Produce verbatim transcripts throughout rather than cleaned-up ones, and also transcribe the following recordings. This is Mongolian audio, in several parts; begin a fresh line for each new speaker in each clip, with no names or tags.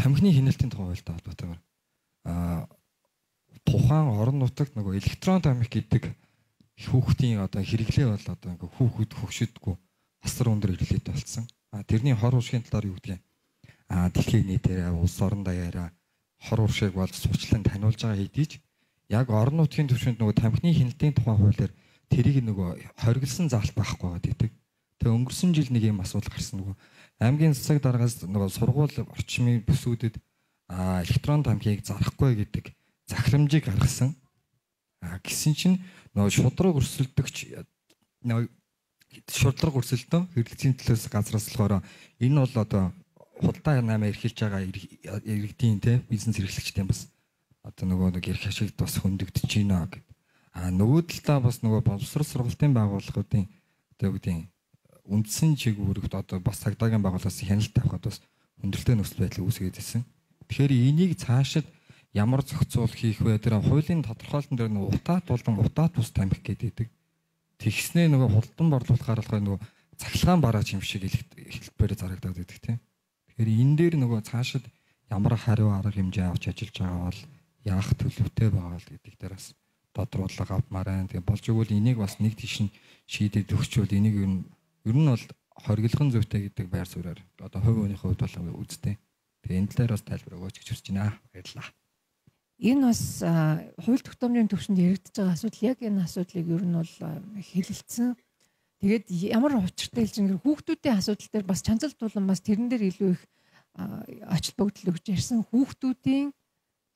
тамхины хяналтын тухай хуультай холбоотойгоор аа тухайн орон нутагт нөгөө электрон тамхи гэдэг хүүхдийн одоо хэрэглээ бол одоо ингээ хүүхэд хөгшөдгөө асар өндөр хэрэглээтэй болсон. А тэрний хор уршигын талаар юу гэдгийг а дэлхийн нийтээр улс орон даяараа хор уршиг бол суучлан таниулж байгаа хэдий ч яг орон нутгийн түвшинд нөгөө тамхины хяналтын тухай хуулиар тэрийг нөгөө хориглосон заалт байхгүй байгаа гэдэг. Тэгээ өнгөрсөн жил нэг юм асуудал гарсан нөгөө аймгийн засаг даргаас нөгөө сургууль орчмын бүсүүдэд а электрон тамхиг зарахгүй гэдэг захирамжийг гаргасан. А гисэн чинь нөгөө шудраг өрсөлдөгч нөгөө шудраг өрсөлдөө хэрэглэцийн төлөөс газраас болохоор энэ бол одоо худалдаа намаа эрхэлж байгаа иргэдийн те бизнес эрхлэгчдийн бас одоо нөгөө нэг эрх ашигт бас хөндөгдөж байна гэдэг. А нөгөө талдаа бас нөгөө боловсрол сургалтын байгууллагуудын одоо юу гэдэг үндсэн чиглэлд одоо бас цагдаагийн байгууллагаас хяналт авахд бас хүндрэлтэй нөхцөл байдал үүсгээд байсан. Тэгэхээр энийг цаашид ямар зохицуул хийх вэ? Тэр хуулийн тодорхойлолтын дээр нэг утаат болон утаат бус тамхи гэдэг. Тэгснээ нөгөө худалдан борлуулахаар болохоо нөгөө цахилгаан бараач юм шиг хэлбэрээр зарагдаад байдаг тийм. Тэгэхээр энэ дээр нөгөө цаашид ямар хариу арга хэмжээ авч ажиллаж байгаа бол яах төлөвтэй байгаа л гэдэг дээр бас тодруулга авмаар байна. Тэгээ болж игэл энийг бас нэг тийш нь шийдэж өгчвөл энийг ер нь ер нь бол хориглохын зүйтэй гэдэг байр суурьаар одоо хувь хүний хувьд бол үзтэй. Тэгээ энэ талаар бас тайлбар өгөөч гэж хүсэж байна. Баярлалаа.
Энэ бас хууль тогтоомжийн төвшөнд яригдж байгаа асуудал яг энэ асуудлыг ер нь бол хэлэлцсэн. Тэгээд ямар учиртай хэлж ингэр хүүхдүүдийн асуудал дээр бас чанцалт болон бас тэрэн дээр илүү их очил богдол өгч ярьсан хүүхдүүдийн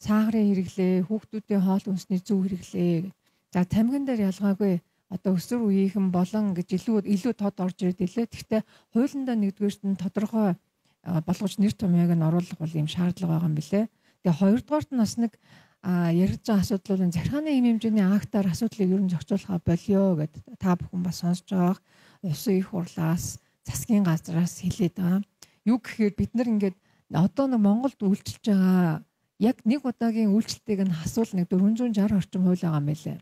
саагрын хэрэглээ, хүүхдүүдийн хоол хүнсний зөв хэрэглээ. За тамгин дээр ялгаагүй одоо өсвөр үеийнхэн болон гэж илүү илүү тод орж ирээд илээ. Гэхдээ хуулиндаа нэгдүгээрт нь тодорхой болгож нэр томьёог нь оруулах бол юм шаардлага байгаа юм билээ. Тэгээ хоёрдугаарт нь бас нэг яригдж байгаа асуудлын захиргааны эм хэмжээний актаар асуудлыг ер нь зохицуулахаа болио гэд та бүхэн бас сонсож байгаа. Улсын их хурлаас, засгийн газраас хэлээд байгаа. Юу гэхээр бид нар ингээд одоо нэг Монголд үйлчилж байгаа яг нэг удаагийн үйлчлэлтийг нь хасвал нэг дөрвөн зуун шарх орчим хууль байгаа юм байлээ.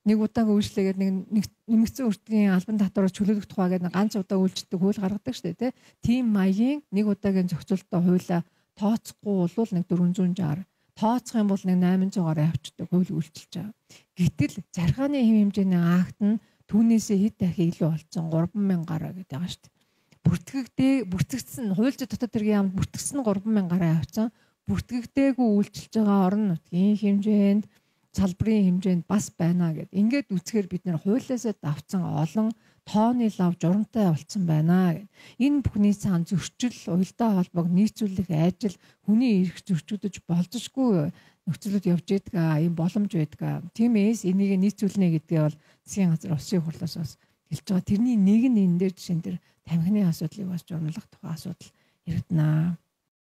Нэг удаагийн үйлчлэгээд нэг нэмэгдсэн өртгийн албан татвараас чөлөөлөх тухай гэдэг ганц удаа үйлчлэлтийг хууль гаргадаг шүү дээ, тийм маягийн нэг удаагийн зохицуулалтаа хуулиа тооцохгүй бол нэг дөрвөн зуун шарх, тооцох юм бол нэг найман зугаар авчдаг хууль үйлчилж байгаа. Гэтэл захиргааны хэм хэмжээний акт нь түүнээсээ хэд дахин илүү болсон гурван мянга гараа гэдэг байгаа шүү дээ. Бүртгэгдээ бүртгэгдсэн хуульч дотоод хэргийн яамд бүртгэгдсэн гурван мянга гараа авсан. Бүртгэгдээгүй үйлчилж байгаа орон нутгийн хэмжээнд салбарын хэмжээнд бас байна гэд. Ингээд үцхээр бид нэр хуулиасаа давцсан олон тооны лав журамтай болцсон байна гэд. Энэ бүхний цаана зөрчил, уялдаа холбоог нийцүүлэх ажил хүний эрх зөрчигдөж болзошгүй нөхцөлөд явж байдаг юм боломж байдаг. Тиймээс энийг нийцүүлнэ гэдгээ бол засгийн газар улсын хурлаас бас хэлж байгаа. Тэрний нэг нь энэ дээр жишээн дээр тамхины асуудлыг бас журмлах тухай асуудал яригдана.